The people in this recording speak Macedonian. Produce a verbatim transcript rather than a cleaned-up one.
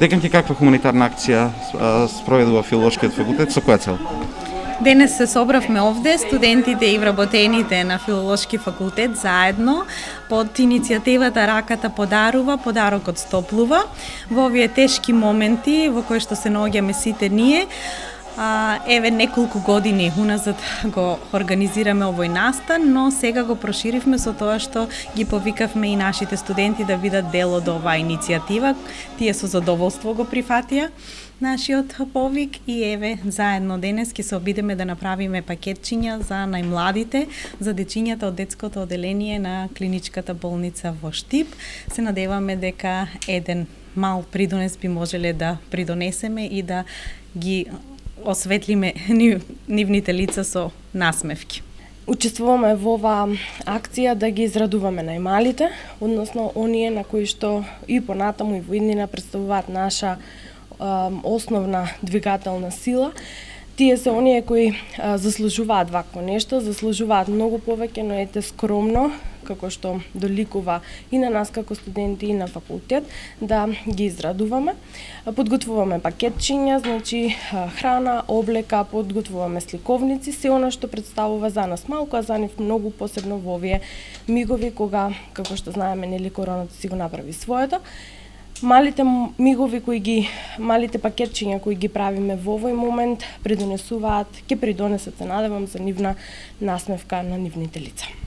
Деканки, каква хуманитарна акција спроведува Филолошкиот факултет, со која цел? Денес се собравме овде, студентите и вработените на Филолошки факултет заедно под иницијативата Раката подарува, подарокот стоплува. Во овие тешки моменти во кои што се наоѓаме сите ние, А, еве неколку години уназад го организираме овој настан, но сега го проширивме со тоа што ги повикавме и нашите студенти да бидат дел од оваа иницијатива. Тие со задоволство го прифатија нашиот повик и еве заедно денес ќе се обидеме да направиме пакетчиња за најмладите, за дечињата од детското оделение на клиничката болница во Штип. Се надеваме дека еден мал придонес би можеле да придонесеме и да ги осветлиме нивните лица со насмевки. Учествуваме во оваа акција да ги израдуваме најмалите, односно оние на кои што и понатаму и во иднина представуваат наша а, основна двигателна сила. Тие се оние кои а, заслужуваат вакво нешто, заслужуваат многу повеќе, но ете скромно, како што доликува и на нас како студенти и на факултет, да ги израдуваме. Подготвуваме пакетчиња, значи храна, облека, подготвуваме сликовници, се она што представува за нас малку, а за нив многу, посебно во овие мигови кога, како што знаеме, нели короната си го направи своето. Малите мигови кои ги, малите пакетчиња кои ги правиме во овој момент придонесуваат, ќе придонесат, се надевам, за нивна насмевка на нивните лица.